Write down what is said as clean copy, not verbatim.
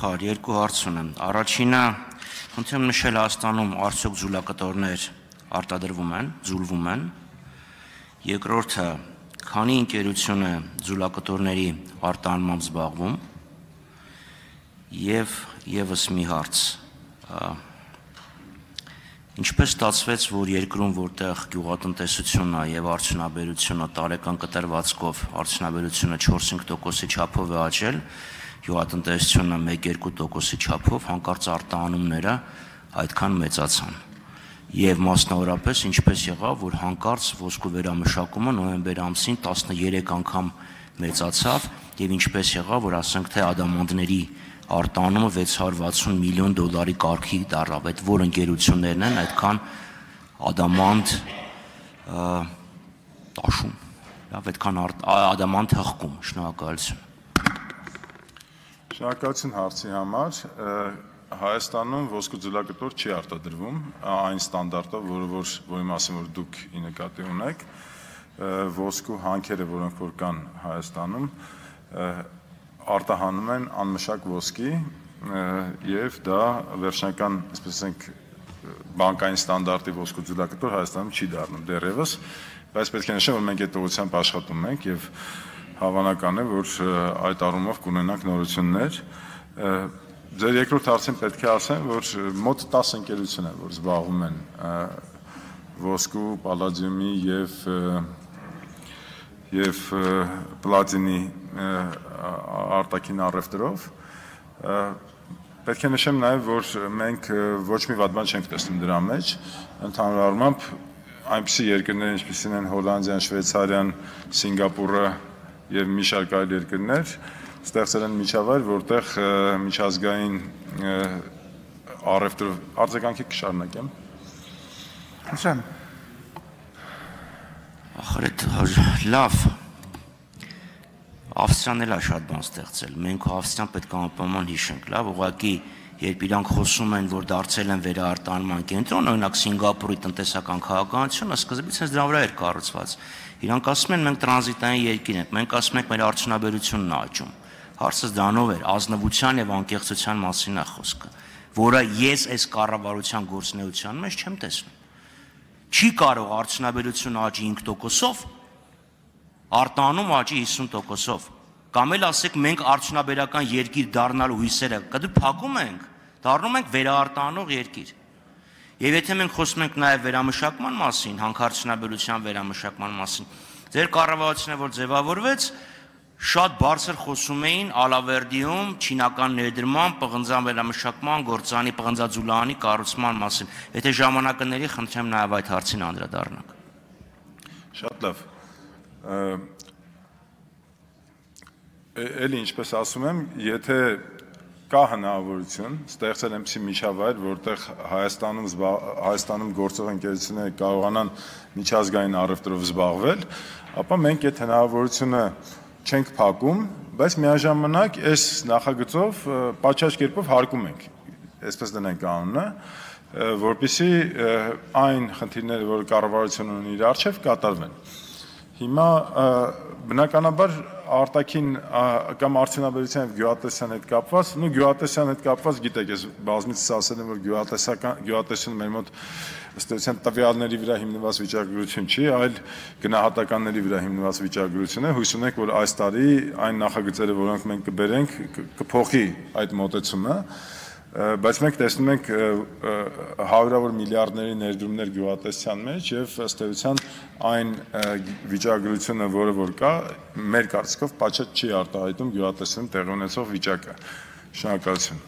նախարար, երկու հարց ունեմ։ Առաջինը, խնդրեմ նշել Հայաստանում արդյոք ձուլակտորներ արտադրվում են, ձուլվում են։ Երկրորդը, քանի ընկերություն է ձուլակտորների արտահանմամբ զբաղվում։ Եվ ևս մի հարց։ Ինչպես ստացվեց, որ երկրում, որտեղ գյուղատնտեսությունն է եւ արդյունաբերությունը տարեկան կտրվածքով արդյունաբերությունը 4-5%-ի չափով է աճել, գյուղատնտեսությունը 1-2%-ի չափով, հանկարծ արտահանումները այդքան մեծացան։ Եվ մասնավորապես ինչպես եղավ, որ հանկարծ ոսկու վերամշակումը նոյեմբեր ամսին 13 անգամ մեծացավ եւ ինչպես եղավ, որ ասենք թե ադամանդների արտահանումը $660 միլիոն կարգի դառավ, այդ որ ընկերություններն են այդքան ադամանդ տաշում, այդքան ադամանդ հղկում, շնորհակալություն։ Շնորհակալություն հարցի համար, Հայաստանում ոսկու ձուլակտոր չի արտադրվում, այն ստանդարտով, որի մասին որ դուք ի նկատի ունեք, ոսկու հանքերը, որոնք որ կան Հայաստանում, արտահանում են անմշակ ոսկի եւ դա վերջնական, այսպես ասենք, բանկային ստանդարտի ոսկու ձուլակտոր Հայաստանում չի դառնում դեռևս, բայց պետք է նշեմ, որ մենք այդ ուղղությամբ աշխատում ենք եւ հավանական է, որ այդ առումով կունենանք նորություններ։ Ձեր երկրորդ հարցին պետք է ասեմ, որ մոտ 10 ընկերություն են, որ զբաղվում են ոսկու, պալադիումի եւ պլատինի արտաքին առևտրով։ Պետք է նշեմ նաև, որ մենք ոչ մի վատ բան չենք տեսնում դրա մեջ, ընդհանուր առմամբ այնպիսի երկրներ, ինչպիսին են Հոլանդիան, Շվեյցարիան, Սինգապուրը եւ մի շարք այլ երկրներ, ստեղծել են միջավայր, որտեղ միջազգային առևտրով արձագանքի կշարունակեմ։ Հաշան։ Ախրետ լավ։ Ավստրիան էլ է շատ բան ստեղծել, մենք ու Ավստրիան պետք է անպայման հիշենք, լավ, ուղղակի երբ իրանք խոսում են, որ դարձել են վերարտահանման կենտրոն, օրինակ Սինգապուրի տնտեսական քաղաքականությունը սկզբից հենց դրա վրա էր կառուցված։ Իրանք ասում են մենք տրանզիտային երկիր ենք, մենք ասում ենք մեր արդյունաբերությունն է աճում։ Հարցը դրանով էր, ազնվության եւ անկեղծության մասին է խոսքը, որը ես այս կառավարության գործունեության մեջ չեմ տեսնում։ Չի կարող արդյունաբերությունը աճի 5%-ով, արտահանում աճի 50%-ով, կամ էլ ասեք մենք արդյունաբերական երկիր դառնալու հույսերը կդու փակում ենք, դառնում ենք վերաարտահանող երկիր։ Եվ եթե մենք խոսում ենք նաև վերամշակման մասին, հանքարդյունաբերության վերամշակման մասին, ձեր կառավարությունը որ ձևավորվեց, շատ բարձր խոսում էին Ալավերդիում չինական ներդրման, պղնձան վերամշակման, գործանի պղնձաձուլարանի կառուցման մասին։ Եթե ժամանակը ների, խնդրեմ նաև այդ հարցին անդրադառնանք։ Շատ լավ։ Էլի ինչպես ասում եմ, եթե կա հնարավորություն ստեղծել այնպիսի միջավայր, որտեղ Հայաստանում գործող ընկերությունները կարողանան միջազգային առևտրով զբաղվել, ապա մենք այդ հնարավորությունը չենք փակում, բայց միաժամանակ այս նախագծով պատշաճ կերպով հարկում ենք, այսպես դնենք անունը, որպեսզի այն խնդիրները, որ կառավարությունը ունի իր առջև, կատարվեն։ Հիմա բնականաբար արտաքին կամ արդյունաբերության եւ գյուղատնտեսության հետ կապված, գյուղատնտեսության հետ կապված գիտեք, ես բազմիցս ասել եմ, որ գյուղատնտեսությունը մեր մոտ ըստ էության տվյալների վրա հիմնված վիճակագրություն չի, այլ գնահատականների վրա հիմնված վիճակագրություն է։ Հույս ունենք, որ այս տարի այն նախագծերը, որոնք մենք կբերենք, կփոխի այդ մոտեցումը, բայց մենք տեսնում ենք հարյուրավոր միլիարդների ներդրումներ գյուղատնտեսության մեջ եւ ըստ էության այն վիճակագրությունը, որը որ կա, մեր կարծիքով պատշաճ չի արտահայտում գյուղատնտեսությունում տեղի ունեցող վիճակը։ Շնորհակալություն։